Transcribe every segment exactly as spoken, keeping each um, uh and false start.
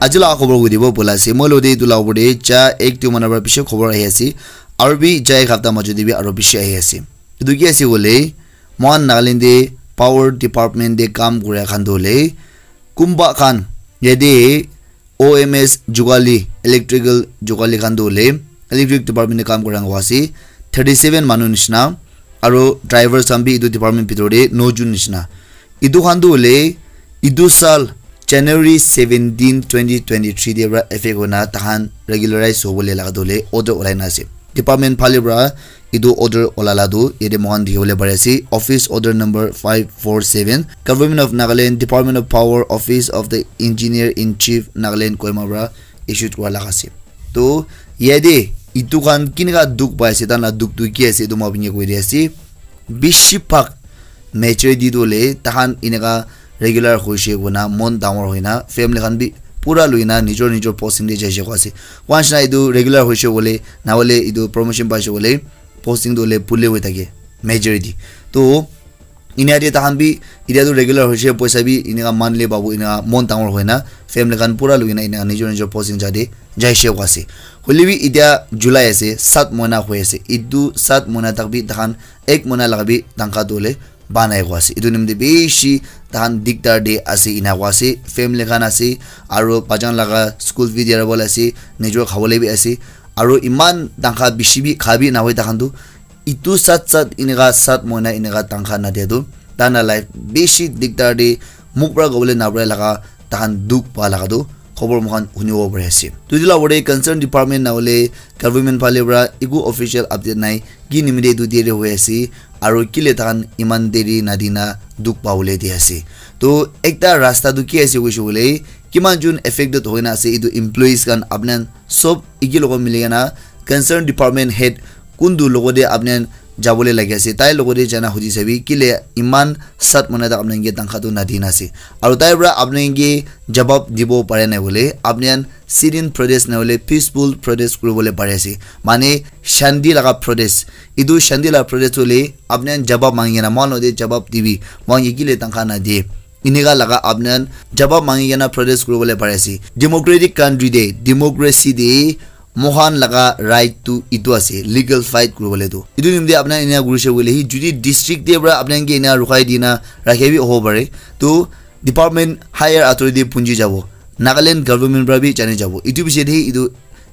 Aji la khobor koi dibo bola ase. Moi lo de etu la opor de ja ek tu mana pra bishi khobor ahi ase. Aru bi ja ek hapta majo de bi aru bishi ahi ase. Etu ki ase koile, mohan Nagaland de power department de kam kura khan tu hoile, kumba khan yate O M S Jogali, electrical Jogali khan tu hoile, electric department de kam kura khan ase, thirty seven manu nishina, aro drivers khan bi etu department bitor de no jun nishina. Etu khan tu hoile, etu sal January seventeen, twenty twenty-three de pra effect hoina tahan regularize hobole laga tu hoile order olai na ase. Department phale pra etu order olala tu yate mohan dikhi bole pari ase, Office Order number five four seven, Government of Nagaland, Department of Power, Office of the Engineer in Chief, Nagaland, Kohima pra issued kura laga ase. To yate etu khan kineka dukh pai ase, tahan la dukh tu ki ase, etu moi apni ke koi di ase. Bishi bhag majority tu hoile tahan eneka regular hoise koina mon dangor hoina family khan bi pura loina nijor nijor posting de jaise koi ase. Once na etu regular hoise koile, na hoile etu promotion paise koile, posting tu hoile pule hoi thake majority. To inia de tahan bi, itia tu regular hoise, poisa bi eneka monthly pabu, eneka mon dangor hoina family khan pura loina eneka nijor nijor posting ja de jaise koi ase. Hoile bi itia July ase, sat mohina hoi ase. Etu sat mohina tak bi tahan ek mohina laga bi tangkha tu hoile ba nai koi ase. Etu nimite bishi tahan dikdar de ase, ena koi ase. Family khan ase, aro bachan laga school fee diya bole ase, nijor khabole bi ase. Aro iman tangkha bishi bi kha bi nahoi tahan tu, etu sat sat eneka sat mohina eneka tangkha nadia tu, tahan la life bishi dikdar de, muk pra kobole nabra laga, tahan dukh pa laga tu khobor moikhan hunibo pari ase. Tu etu la opor de concern department na hoile government phale pra eku official update nai, ki nimite etu deri hoi ase, aro kile tahan iman deri nadina dukh pabole di ase. To ekta rasta tu ki ase koise koile, kiman jun affected hoina ase, etu employees khan apni khan sob eki logot mili kena concern department head kuntu logot de apni khan jabole lagi ase, tai logot de jana hudi sabi, kile iman sat mohina tak apni khan ke tangkha tu nadina ase. Aro tai pra apni khan ke jawab dibo pare nai koile, apni khan sit-in protest na hoile peaceful protest kuribole pari ase. Mane shanti laga protest. Etu shanti laga protest hoile apni khan jawab mangi kena, mohan logot de jawab dibi, mohan ke kile tangkha nadie. Eneka laga apni khan jawab mangi kena protest kuribole pari ase. Democratic country de, democracy de, mohan laga right tu etu ase, legal fight kuribole tu. Etu nimite apni khan eneka kurise koile, hi jodi district de pra apni khan ke eneka rukhai dina rakhe bi hobo pare. To department higher authority punji jabo, Nagaland government pra bi jani jabo. Etu piche de etu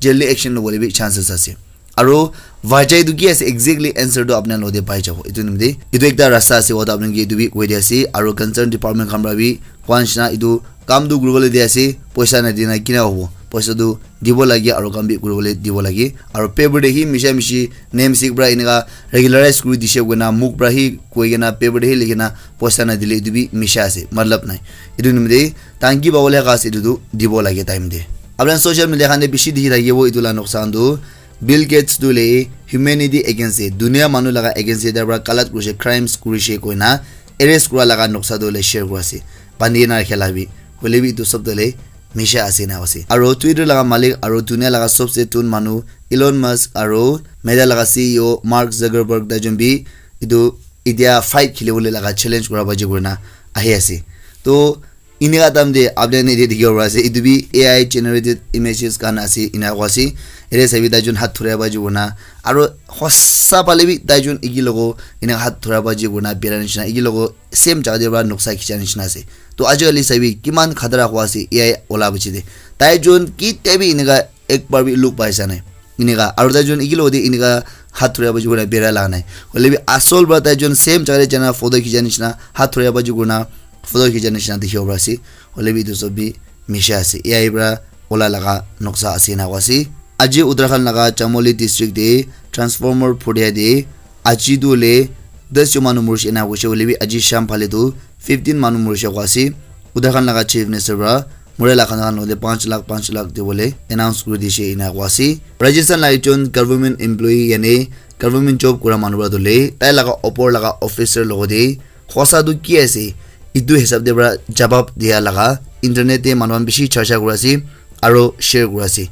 jail de action lobole bi chances ase. Aro vajai tu ki ase, exactly answer tu apni khan logot de pai jabo. Etu nimite etu ekta rasta ase, wa tu apni khan ke etu bi koi di ase. Aro concern department khan pra bi koi nishina etu kam tu kuribole di ase, poisa nadina kina hobo? Poisa tu dibo lage aro kam bi kuribole dibo lage. Aro paper de hi misha mishi name sik pra eneka regularize kuri dise koina muk pra hi koi kena paper de hi likhi kena poisa nadile etu bi misha ase, matlab nai. Etu nimite tahan ki pabole laga ase, etu tu dibo lage time de. Apni khan social media khan de bishi dikhi thakibo etu la noksa khan tu, Bill Gates tu hoile humanity against de, dunia manu laga against de tai pra galat kurise, crimes kurise koina arrest kura laga noksa tu hoile share kuri ase. Bandi na rakhia la bi. Hoile bi etu sob tu hoile misha ase na ase. Aro Twitter laga malik aro dunia laga sobse thun manu Elon Musk aro Meta laga C E O Mark Zuckerberg tai jun bi etu itia fight khilibole laga challenge kura baji kurina ahi ase. To eneka time de apni khan yate dikhibo pari ase, etu bi A I generated images khan ase, ena koi ase. Yate sabi tai jun hath thurai baji kurina, aro hosa phale bi tai jun eki logot eneka hath thurai baji kurina bera nishina, eki logot same jaga de pra noksa khicha nishina ase. To aji kali sabi kiman khatara hua ase A I ola piche de. Tai jun kitia bi eneka ek bar bi look paisa nai. Eneka, aro tai jun eki logot de eneka hath thurai baji kurina bera laga nai. Hoile bi asol pra tai jun same jaga de jana photo khicha nishina, hath thurai baji kurina photo khicha nishina dikhibo pari ase. Hoile bi etu sob bi misha ase. A I pra ola laga noksa ase ena koi ase. Aji Uttarakhand laga Chamoli district de transformer phuria de aji tu hoile das jon manu murise ena koise, hoile bi aji sham phale tu fifteen manu murise koi ase. Uttarakhand laga chief minister pra mura laga khan khan hoile panch lakh, panch lakh dibole announce kuri dise ena koi ase. Rajasthan la ekjon government employee yani government job kura manu pra tu hoile tai laga opor laga officer logot de hosa tu ki ase, etu hisab de pra jawab dia laga internet de manu khan bishi charcha kuri ase aro share kuri ase.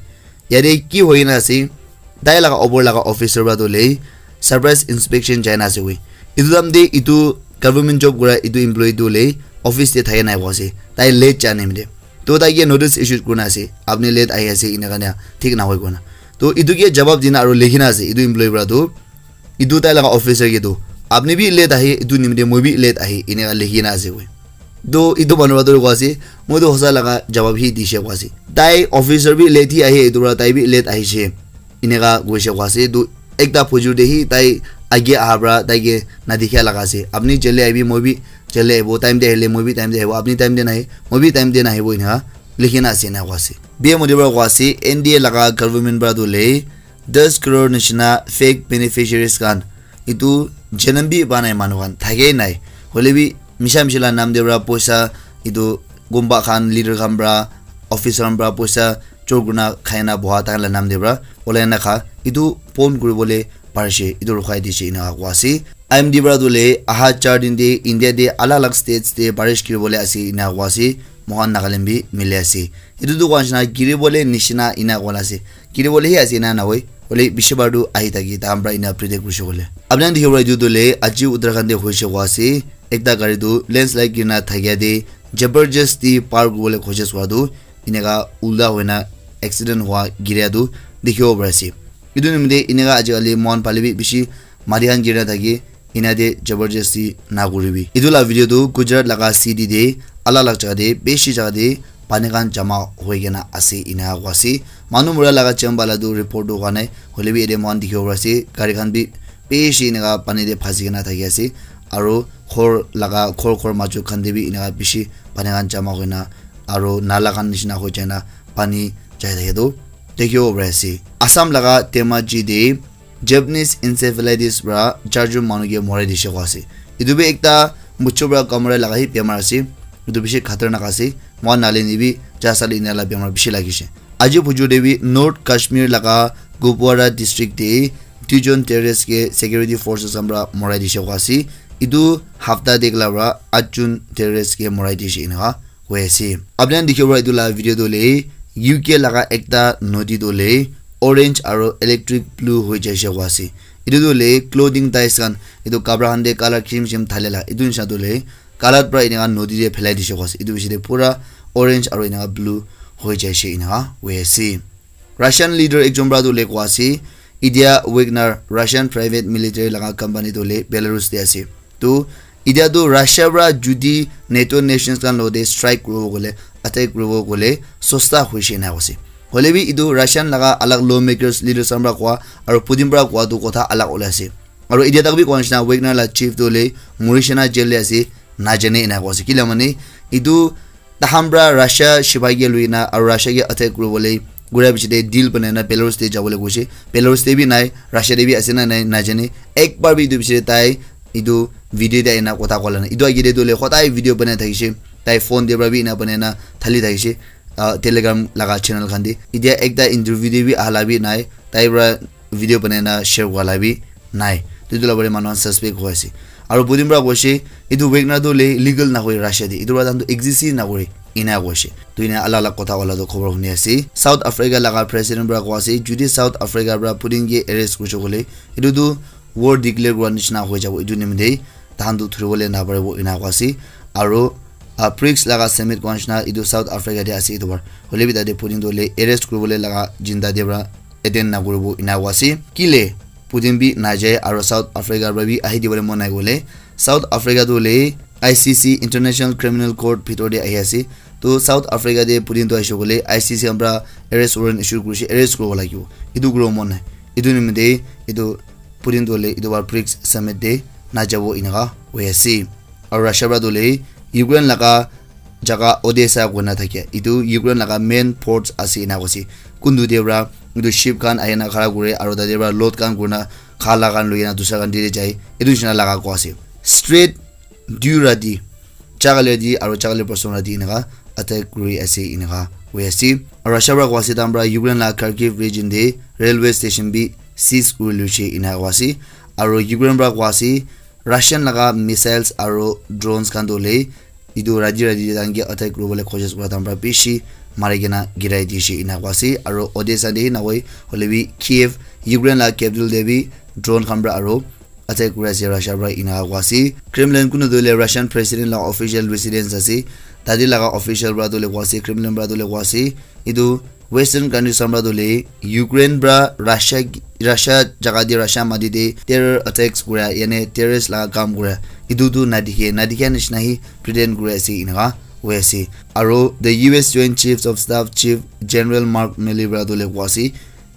Yate ki hoi kena ase, tai laga opor laga officer pra tu hoile surprise inspection jai na ase koi. Etu time de etu government job kura etu employee tu hoile office de thaki nai koi ase. Tai late jai nimite. To tai ke notice issued kurina ase, apni late ahi ase, ena karne thik nahoi kurina. To etu ke jawab dina aru likhina ase, etu employee para tu, etu tai laga officer ke tu, apni bi late ahi, etu nimite moi bi late ahi, eneka likhina ase koi. To etu manu para tu koi ase, moi tu hosa laga jawab hi dise koi ase. Tai officer bi late hi ahi, etu para tai bi late ahise, eneka koise koi ase. To ekta phujur te hi tai age aha para tai ke nadikha laga ase. Apni jale ahibi, moi bi jale ahibo, time te ahile moi bi time te ahibo, apni time te nahi, moi bi time te nahibo, eneka likhina ase, eneka koi ase. P M Modi para koi ase, N D A laga government para tu le das crore nishina fake beneficiaries khan, etu janam bi pa nai manu khan, thake nai. Hoile bi misha misha la nam te para poisa, etu gumba khan, leader khan para, officer khan para poisa chor kurina khai na boha tai khan la nam te para olai na kha, etu pon kuribole parishe, etu rukhai dishe, eneka koi ase. I M D para tu le aha char din te India te alag alag states te barish giribole ase, eneka koi ase. Mohan Nagaland bi mili ase. Etu tu koi nishina giribole nishina eneka koi na ase. Giribole hi ase, eneka nahoi. Hoile bishi bar tu ahi thaki, tai khan para eneka predict kurishe koile. Apni khan dikhibo para etu tu le aji Uttarakhand te hoise koi ase. Ekta gari tu landslide girina thakia te jabardasti par kuribole koshish kura tu eneka ulta hoina accident hua giria tu dikhibo pari ase. Etu nimite eneka ajikali mohan phale bi bishi mati khan girina thake, ena te jabardasti na kuribi. Etu la video tu Gujarat laga city te alag alag jaga te bishi jaga te pani khan jama hoi kena ase, eneka koi ase. Manu mura laga cham bala tu report tu hua nai, hoile bi yate mohan dikhibo pari ase gari khan bi bishi eneka pani te phasi kena thaki ase, aru ghor laga ghor ghor maju khan te bi eneka bishi pani khan jama hoina aru nala khan nishina hoi jaina pani jai thake tu dikhibo pari ase. Assam laga Dhemaji te Japanese encephalitis para charjon manu ke morai dishe koi ase. Etu bi ekta muchu para kamura laga hi bemar ase. Etu bishi khatarnak ase. Mohan nalin ibi jasali ena la bemar bishi lagishe. Aji phujur te bi North Kashmir laga Kupwara district te duijon terrorist ke security forces khan para morai dishe koi ase. Etu hafta te ekla para atjon terrorist ke morai dishe eneka hoi ase. Apni khan dikhibo para etu la video tu le U K laga ekta nodi tu le orange aro electric blue hoi jaise koi ase. Etu tu le clothing dyes khan, etu kapra khan te colour cream cream thale la, etu nisina tu le colour para eneka nodi te phelai dise koi ase. Etu piche te pura orange aro eneka blue hoi jaise eneka hoi ase. Russian leader ekjon para tu le koi ase, Ilya Wagner Russian private military laga company tu le Belarus te ase. Tu etia tu Russia para judi NATO nations khan logote strike kuribo kole, attack kuribo kole sosta hoise ena koise. Hoile bi etu Russian laga alag lawmakers, leaders khan para koa aru Putin para koa tu kotha alag ulai ase. Aru etia tak bi koa nishina Wagner la chief tu hoile Murishina jail te ase, najane ena koa ase. Kila mane etu tahan para Russia sipai ke lui na aru Russia ke attack kuribole gura piche te deal banai na Belarus te jabole koise. Belarus te bi nai, Russia te bi ase na nai najane. Ek bar bi etu piche te tai etu video te aina kotha kola nai. Etu age te tu hoile hodai video banai thakishe. Tai phone te para bi ena banai na thali thakishe. Ah, Telegram laga channel khan te. Etia ekta interview te bi ahala bi nai. Tai para video banai na share kura la bi nai. Tu etu la bare manu khan suspect hoi ase. Aru Putin para koise, etu Wagner tu le legal na hoi Russia te. Etu para tahan tu exist na kore. Ena koise. Tu ena alag alag kotha wala tu khobor huni ase. South Africa laga president para koa ase, judi South Africa para Putin ke arrest kurise kole, etu tu war declare kura nishina hoi jabo. Etu nimite tahan tu thuribole na paribo ena koa ase. Aru, ah, brics laga summit koa nishina etu South Africa te ase etu bar. Hoile bi tate Putin tu le arrest kuribole laga jinda te para attend na kuribo ena koa ase. Kile Putin bi najai aru South Africa para bi ahi dibole mon nai kole, South Africa tu hoile I C C, International Criminal Court, bhitor te ahi ase. To South Africa te Putin tu ahishe kole I C C khan para arrest warrant issue kurishe, arrest kuribo lagibo. Etu kuribo mon nai. Etu nimite etu Putin tu hoile etu bar brics summit te najabo eneka hoi ase. Aru Russia para tu hoile Ukraine laga jaga Odessa koina thakia, etu Ukraine laga main ports ase ena koise. Kuntu te para etu ship khan ahina khara kure aru tate para load khan kurina khala khan loina dusra country te jai, etu nishina laga koa ase. Straight dui rati, chakale di aru chakale person rati eneka attack kuri ase eneka hoi ase. Aru Russia para koa ase tahan para Ukraine laga Kharkiv region te railway station bi seize kuri loise eneka koa ase. Aru Ukraine para koa ase Russian laga missiles aru drones khan tu hoile etu rati rati te tahan ke attack kuribole koshish kura tahan para bishi mari kena girai dishe ena koa ase. Aru Odessa te hi nahoi hoile bi Kiev, Ukraine laga capital te bi drone khan para aru attack kuri ase Russia para ena koa ase. Kremlin kunu tu hoile Russian president laga official residence ase. Tate laga official para tu le koa ase, Kremlin para tu le koa ase, etu Western countries khan para tu le Ukraine para Russia, Russia jaga te, Russia mati te terror attacks kura, yane terrorist laga kam kura, etu tu nadikhe, nadikha nishina hi pretend kuri ase, eneka hoi ase. Aro the U S Joint Chiefs of Staff Chief General Mark Milley para tu le koa ase,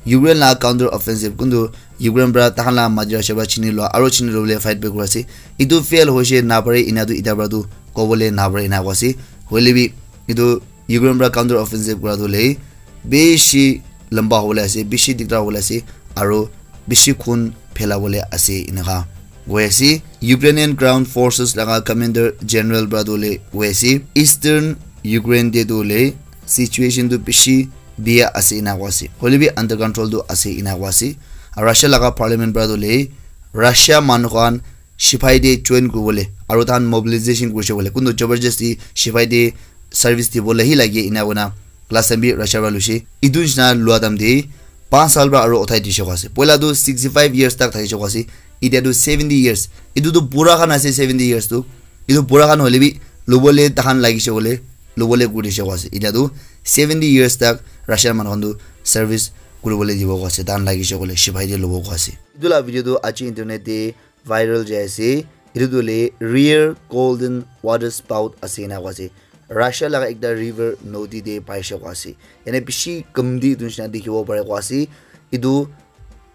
Ukraine la counter offensive kuntu Ukraine para tahan la mati Russia para chini lua aro chini lobole fight back kura ase. Etu fail hoise na pare, ena tu eta para tu kobole na pare, ena koa ase. Hoile bi etu Ukraine para counter offensive kura tu le bishi lamba hobole ase, bishi dikdar hobole ase, aro bishi khun phela bole ase, eneka koi ase. Ukrainian Ground Forces laga Commander General para tu le koi ase, Eastern Ukraine te tu le situation tu bishi bia ase, ena koa ase. Hoile bi under control tu ase, ena koa ase. Aru Russia laga parliament para tu le Russia manu khan sipai te join kuribole aru tahan mobilization kurise bole, kuntu jabardasti sipai te service dibole hi lage, ena koina last time bi Russia para luise. Etu nishina lua time te panch saal para aru uthai dise koa ase. Poila tu sixty five years tak thakise koa ase, etia tu seventy years. Etu tu bura khan ase, seventy years tu. Etu bura khan hoile bi lobole tahan lagise bole, lobole kurise koa ase. Etia tu seventy years tak Russia manu khan tu service kuribole dibo koa ase, tahan lagise bole sipai te lobo koa ase. Etu la video tu aji internet te viral jai ase. Etu tu le rare golden water spout ase, ena koa ase. Russia laga ekta river nodi te paise koa ase. Ene bishi kamti etu nishina dikhibo pare koa ase. Etu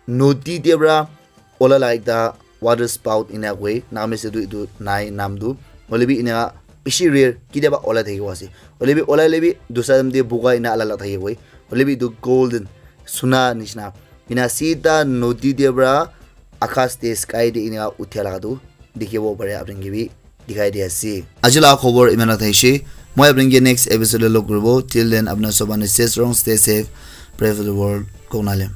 nodi te para ola la ekta water spout ena koi. Naga ase tu etu nai nam tu. Hoile bi ena bishi rare, kitiaba ola thaki koa ase. Hoile bi ola le bi dusra time te buga ena ala la thaki koi. Hoile bi etu golden suna nishina ena sida nodi te para akas te, sky te ena uthia laga tu dikhibo pare, apni khan ke bi dikhai di ase. Aji la khobor iman thaise. Moi apni ke next episode te log kuribo. Till then, apna sob khan stay strong, stay safe, pray for the world. Konale.